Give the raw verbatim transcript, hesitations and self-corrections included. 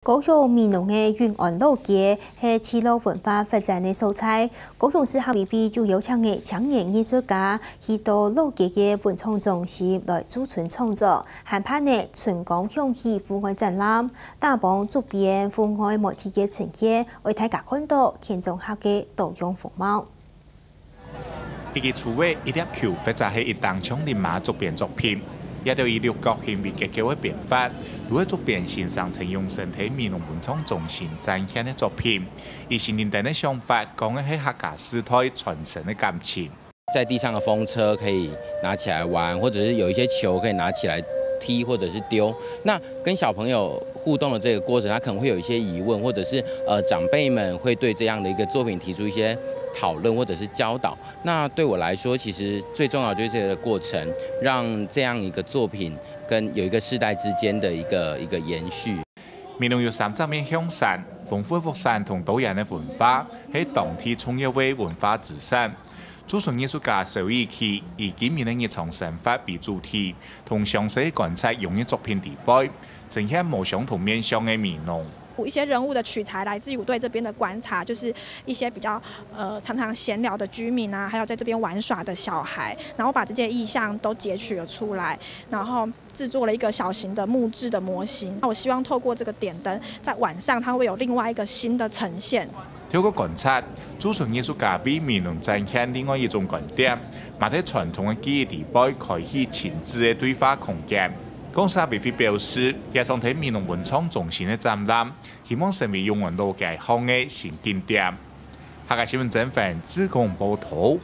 高雄美濃个永安老街係聚落文化發展个所在。高雄市客委會就邀請个青年藝術家去到老街个文創中心來駐村創作，還辦了春光響起戶外展覽，打幫竹編戶外媒體个呈現，為大家看到田中客个多樣風貌。 一支竹仔、一粒球，或者係一頂長笠嫲竹編作品，這兜以六角形為結構个變化，都係竹編先生曾用身體美濃文創中心展現个作品。以新丁丁个想法，講个係客家時代傳承个感情。在地上的風車可以拿起來玩，或者是有一些球可以拿起来踢或者是丢。那跟小朋友互动的这个过程，他可能会有一些疑问，或者是呃长辈们会对这样的一个作品提出一些讨论或者是教导。那对我来说，其实最重要就是这个过程，让这样一个作品跟有一个世代之间的一个一个延续。美濃有三十面香山，豐富个特色同多元个文化，係當地重要个文化资产。 駐村藝術家蕭以琪以居民个日常生活為主題，同詳細觀察用个作品底背，呈現無相同面向个美濃。一些人物的取材来自于我对这边的观察，就是一些比较呃常常闲聊的居民啊，还有在这边玩耍的小孩，然后把这些意象都截取了出来，然后制作了一个小型的木质的模型。那我希望透过这个点灯，在晚上它会有另外一个新的呈现。 透過觀察，駐村藝術家為美濃展現另外一種觀點，嘛在傳統个記憶底背開啟親子个對話空間。公社委會表示，這場在美濃文創中心个展覽，希望成為永安老街項个新景點。客家新聞曾凡、志工報導。